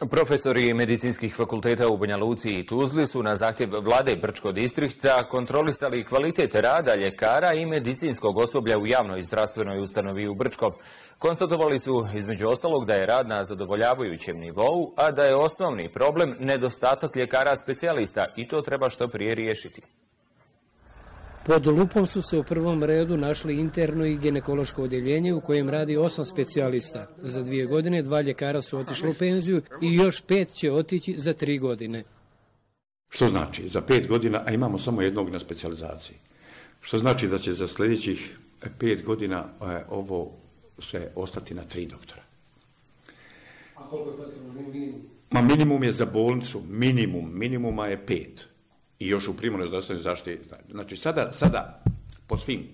Profesori medicinskih fakulteta u Banja Luci i Tuzli su na zahtjev vlade Brčkog distrikta kontrolisali kvalitet rada ljekara i medicinskog osoblja u javnoj zdravstvenoj ustanovi u Brčkom. Konstatovali su između ostalog da je rad na zadovoljavajućem nivou, a da je osnovni problem nedostatak ljekara specijalista i to treba što prije riješiti. Pod lupom su se u prvom redu našli interno i ginekološko odjeljenje u kojem radi 8 specijalista. Za 2 godine 2 ljekara su otišli u penziju i još 5 će otići za 3 godine. Što znači za 5 godina, a imamo samo jednog na specijalizaciji. Što znači da će za sljedećih 5 godina ovo sve ostati na 3 doktora. A koliko je potrebno minimum? Minimum je za bolnicu, minimuma je 5. I još u primarnoj zdravstvenoj zaštiti. Znači sada po svim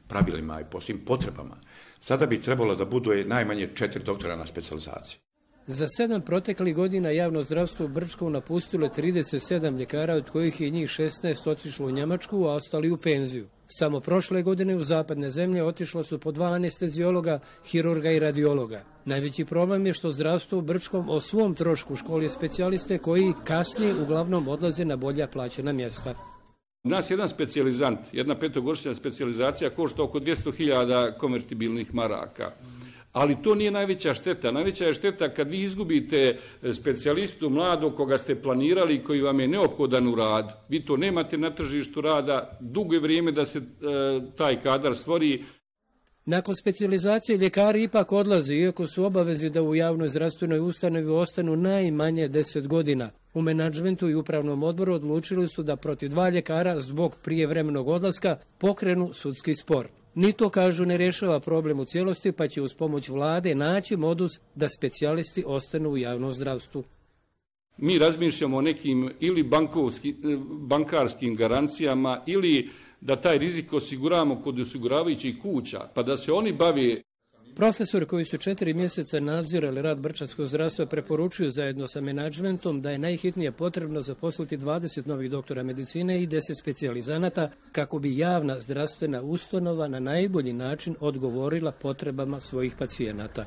pravilima i po svim potrebama, sada bi trebalo da bude najmanje 4 doktora na specijalizaciji. Za 7 proteklih godina javno zdravstvo u Brčkom napustilo je 37 ljekara, od kojih je njih 16 otišlo u Njemačku, a ostali u penziju. Samo prošle godine u zapadne zemlje otišlo su po 2 anesteziologa, hirurga i radiologa. Najveći problem je što zdravstvo u Brčkom o svom trošku školi specijaliste koji kasnije uglavnom odlaze na bolja plaćena mjesta. U nas jedan specijalizant, jedna 5-godišnja specijalizacija košta oko 200.000 konvertibilnih maraka. Ali to nije najveća šteta. Najveća je šteta kad vi izgubite specijalistu mladog koga ste planirali i koji vam je neophodan u radu. Vi to nemate na tržištu rada, dugo je vrijeme da se taj kadar stvori. Nakon specijalizacije ljekari ipak odlaze, iako su obavezi da u javnoj zdravstvenoj ustanovi ostanu najmanje 10 godina. U menadžmentu i upravnom odboru odlučili su da protiv 2 ljekara zbog prijevremenog odlaska pokrenu sudski spor. Ni to, kažu, ne rješava problem u cijelosti, pa će uz pomoć vlade naći modus da specijalisti ostanu u javnom zdravstvu. Mi razmišljamo o nekim ili bankarskim garancijama ili da taj rizik osiguramo kod osiguravajućih kuća, pa da se oni bave. Profesori koji su 4 mjeseca nadzirali rad brčanskog zdravstva preporučuju zajedno sa menadžmentom da je najhitnije potrebno zaposliti 20 novih doktora medicine i 10 specijalizanata kako bi javna zdravstvena ustanova na najbolji način odgovorila potrebama svojih pacijenata.